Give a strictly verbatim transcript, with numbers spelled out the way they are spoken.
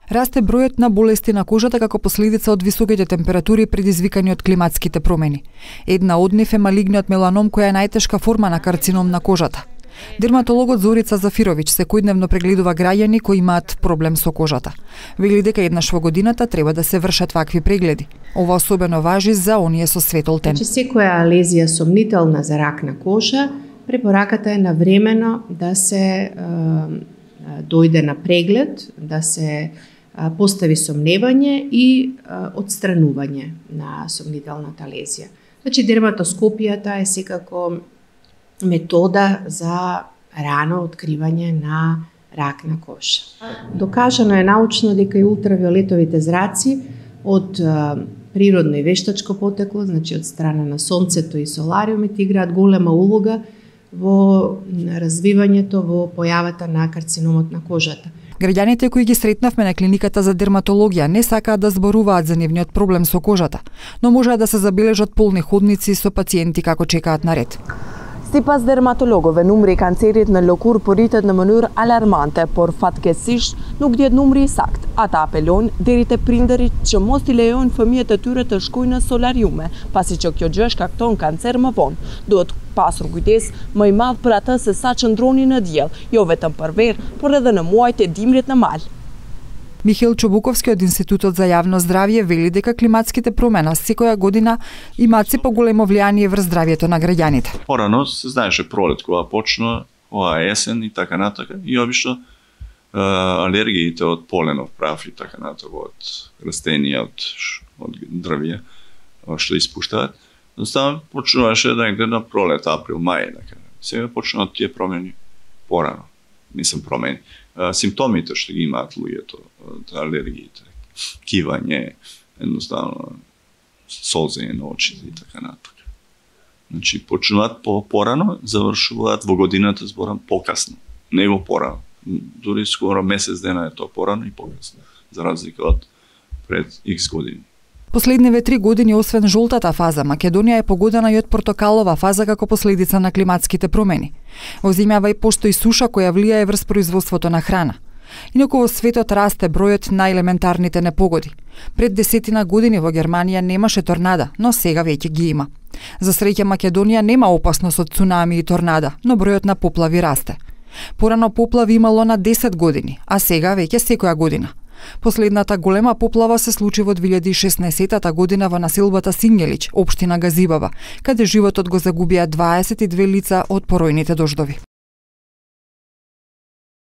Расте бројот на болести на кожата како последица од високите температури предизвикани од климатските промени. Една од нив е малигниот меланом, која е најтешка форма на карцином на кожата. Дерматологот Зорица Зафировиќ секојдневно прегледува граѓани кои имаат проблем со кожата. Вели дека еднаш во годината треба да се вршат вакви прегледи. Ова особено важи за оние со светол тен. Значи, секоја лезија сомнителна за рак на кожа, препораката е навремено да се е, дојде на преглед, да се постави сомневање и отстранување на сомнителната лезија. Значи, дерматоскопијата е секако метода за рано откривање на рак на кожа. Докажано е научно дека и ултравиолетовите зраци од природно и вештачко потекло, значи од страна на сонцето и солариумите, играат голема улога во развивањето, во појавата на карциномот на кожата. Граѓаните кои ги сретнавме на клиниката за дерматологија не сакаат да зборуваат за нивниот проблем со кожата, но можат да се забележат полни ходници со пациенти како чекаат на ред. Sipas dermatologëve, numri i kancerit në lëkurë po rritet në mënyrë alarmante, por fatkeqësisht nuk dihet numri i saktë. Ata apelojnë deri te prindërit që mos i lejojnë fëmijët e tyre të shkojnë në solariume, pasi që kjo gjë shkakton kancer më vonë. Duhet pasur kujdes më i madh për atë se sa qëndroni në diell, jo vetëm për verë, por edhe në muajt e dimrit në mal. Михаил Чобуковски од Институтот за јавно здравје вели дека климатските промена секоја година имаат се поголемо влијание врз здравјето на граѓаните. Порано се знаеше пролет кога почна, ова есен и така натака, и обично алергиите од поленов прах и така натака, од растенија, од, од дрвја, што испуштаат, jednostavно почнуваше да негде на пролет, април, мај, така. Сега почнуваат тие промени порано. Мислам промени. Симптомите што ги имаат луѓето од алергиите, кивање, едноставно солзење на очите и така натака. Значи почнуваат по-порано, завршуваат во годината зборам покасно, него порано. Дури скоро месец дена е тоа порано и покасно, за разлика од пред икс години. Последниве три години, освен жолтата фаза, Македонија е погодена и од портокалова фаза како последица на климатските промени. Во земјава и постои суша која влијае врз производството на храна. Инаку во светот расте бројот на елементарните непогоди. Пред десетина години во Германија немаше торнада, но сега веќе ги има. За среќа Македонија нема опасност од цунами и торнада, но бројот на поплави расте. Порано поплави имало на десет години, а сега веќе секоја година. Последната голема поплава се случи во две илјади и шеснаесетта година во населбата Сињелич, општина Газибаба, каде животот го загубија дваесет и две лица од поројните дождови.